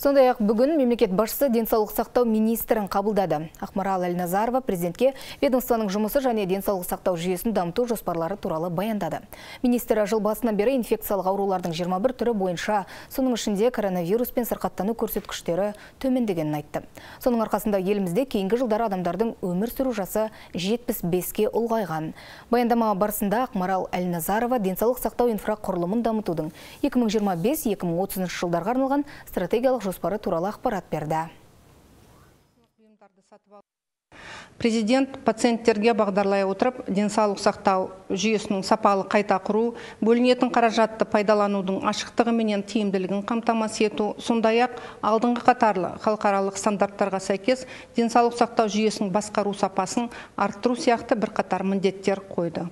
Сондай-ақ бүгін мемлекет басшысы денсаулық сақтау министрін қабылдады. Ақмарал Әлназарова президентке ведомствоның жұмысы және денсаулық сақтау жүйесін дамыту жоспарлары туралы баяндады. Министр жыл басынан бері инфекциялық аурулардың 21 түрі бойынша, соның ішінде коронавируспен сырқаттану көрсеткіштері төмендегенін айтты. Соның арқасында елімізде кейінгі жылдары адамдардың өмір сүру жасы 75-ке ұлғайған. Баяндама барысында Ақмарал Әлназарова денсаулық сақтау инфрақұрылымын дамытудың 2025-2030 жылдарға арналған стратегиялық жоспары туралы ақпарат берді. Президент пациенттерге бағдарлай отырып, денсаулық сақтау жүйесінің сапалы қайта құру, бөлінетін қаражатты пайдаланудың ашықтығы менен тиімділігін қамтамасыз ету, сондай-ақ алдыңғы қатарлы халықаралық стандарттарға сәйкес денсаулық сақтау жүйесінің басқару сапасын арттыру сияқты бірқатар міндеттер қойды.